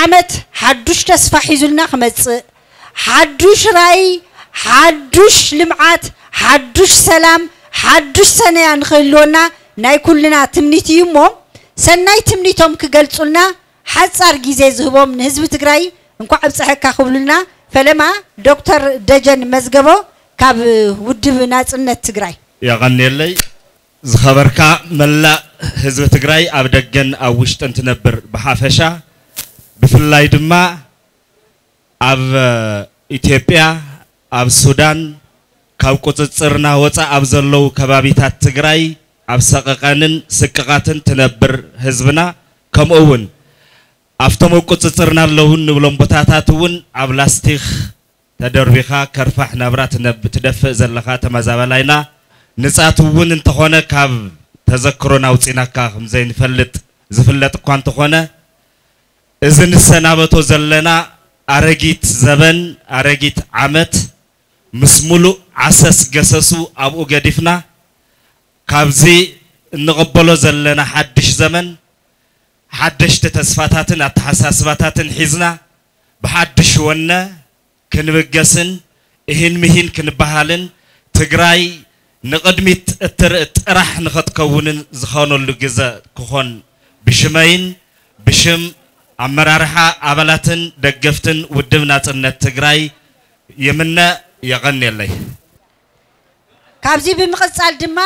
ዓመት ሓዱሽ ተስፋ ሒዙልና ክመጽእ፣ ሓዱሽ ራእይ፣ ሓዱሽ ልምዓት፣ ሓዱሽ ሰላም፣ ሓዱሽ ሰነያ ንክህልወና ናይ ኩልና ትምኒት እዩ እሞ፣ ሰናይ ትምኒቶም ክገልጹልና ሓጻር ግዜ ዝህቦም ንህዝቢ ትግራይ እንኳዕ ኣብፀሐካ ክብሉልና ፈለማ ዶክተር ደጀን መዝገቦ ካብ ውድብ ናጽነት ትግራይ። የቐንየለይ። ዝኸበርካ መላእ ህዝቢ ትግራይ፣ ኣብ ደገን ኣብ ውሽጥን ትነብር ብሓፈሻ፣ ብፍላይ ድማ ኣብ ኢትዮጵያ፣ ኣብ ሱዳን፣ ካብ ቁፅፅርና ወፃእ ኣብ ዘለዉ ከባቢታት ትግራይ ኣብ ሰቐቐንን ስቅቓትን ትነብር ህዝብና፣ ከምኡ እውን ኣብቶም ኣብ ቁፅፅርና ኣለዉ እንብሎም ቦታታት እውን ኣብ ላስቲክ ተደርቢኻ ከርፋሕ ናብራ ትነብ-፣ ትደፍእ ዘለኻ ተመዛባላይና፣ ንጻት እውን እንተኾነ ካብ ተዘክሮና ኣውጺናካ ከም ዘይንፈልጥ ዝፍለጥ እኳ እንተኾነ፣ እዚ ንሰናበቶ ዘለና ኣረጊት ዘበን፣ ኣረጊት ዓመት፣ ምስ ሙሉእ ዓሰስ ገሰሱ ኣብኡ ገዲፍና፣ ካብዚ እንቕበሎ ዘለና ሓድሽ ዘመን፣ ሓደሽቲ ተስፋታትን ኣተሓሳስባታትን ሒዝና፣ ብሓድሽ ወነ ክንብገስን እሂን ምሂን ክንበሃልን፣ ትግራይ ንቕድሚት እትርኢ ጥራሕ ንኸትከውንን ዝኾነሉ ግዘ ክኾን ብሽመይን ብሽም ኣመራርሓ፣ ኣባላትን ደገፍትን ውድብ ናጽነት ትግራይ ይምነ። የቐንየለይ። ካብዚ ብምቕጻል ድማ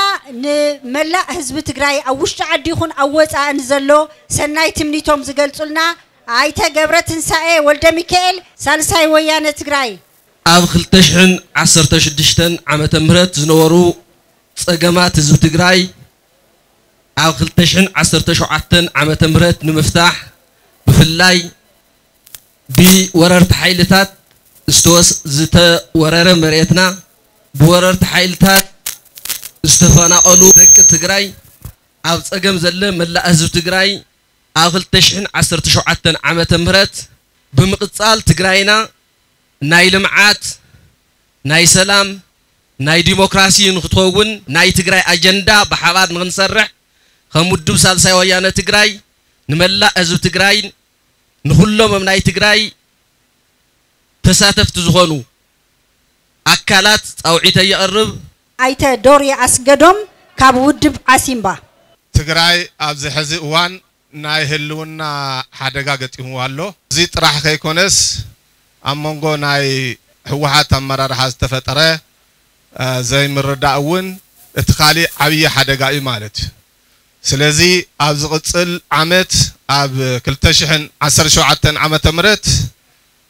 ንመላእ ህዝቢ ትግራይ ኣብ ውሽጢ ዓዲ ይኹን ኣብ ወጻእን ዘሎ ሰናይ ትምኒቶም ዝገልጹልና ኣይተ ገብረ ትንሳኤ ወልደ ሚካኤል፣ ሳልሳይ ወያነ ትግራይ። ኣብ ክልተ ሽሕን ዓሰርተ ሽዱሽተን ዓመተ ምህረት ዝነበሩ ጸገማት ህዝቢ ትግራይ ኣብ ክልተ ሽሕን ዓሰርተ ሸውዓተን ዓመተ ምህረት ንምፍታሕ፣ ብፍላይ ብወረርቲ ሓይልታት ዝተወስ-፣ ዝተወረረ መሬትና፣ ብወረርቲ ሓይልታት ዝተፈናቐሉ ደቂ ትግራይ፣ ኣብ ጸገም ዘለ መላእ ህዝቢ ትግራይ፣ ኣብ ክልተ ሽሕን ዓሰርተ ሸውዓተን ዓመተ ምህረት ብምቕጻል፣ ትግራይና ናይ ልምዓት፣ ናይ ሰላም፣ ናይ ዲሞክራሲ ንክትኸውን ናይ ትግራይ ኣጀንዳ ብሓባር ንክንሰርሕ፣ ከም ውድብ ሳልሳይ ወያነ ትግራይ፣ ንመላእ ህዝቢ ትግራይ፣ ንኹሎም ኣብ ናይ ትግራይ ተሳተፍቲ ዝኾኑ ኣካላት ጻውዒተይ የቕርብ። ኣይተ ዶሪ ኣስገዶም ካብ ውድብ ዓሲምባ። ትግራይ ኣብዚ ሕዚ እዋን ናይ ህልውና ሓደጋ ገጢምዋ ኣሎ። እዚ ጥራሕ ከይኮነስ፣ ኣብ መንጎ ናይ ህወሓት ኣመራርሓ ዝተፈጠረ፣ እ፣ ዘይምርዳእ እውን እቲ ካሊእ ዓብዪ ሓደጋ እዩ ማለት እዩ። ስለዚ ኣብ ዝቕጽል ዓመት፣ ኣብ ክልተ ሽሕን ዓሰርተ ሸውዓተን ዓመተ ምህረት፣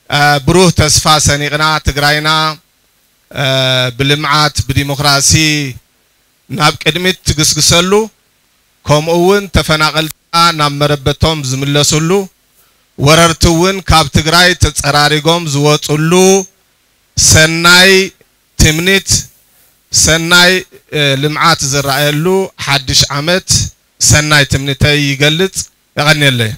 እ፣ ብሩህ ተስፋ ሰኒቕና፣ ትግራይና፣ እ፣ ብልምዓት፣ ብዲሞክራሲ ናብ ቅድሚት ትግስግሰሉ፣ ከምኡ እውን ተፈናቐልትና ናብ መረበቶም ዝምለስሉ፣ ወረርቲ እውን ካብ ትግራይ ተጸራሪጎም ዝወጽሉ ሰናይ ትምኒት፣ ሰናይ፣ እ፣ ልምዓት ዝረኣየሉ ሓድሽ ዓመት ሰናይ ትምኒተይ ይገልጽ። የቐንየለይ።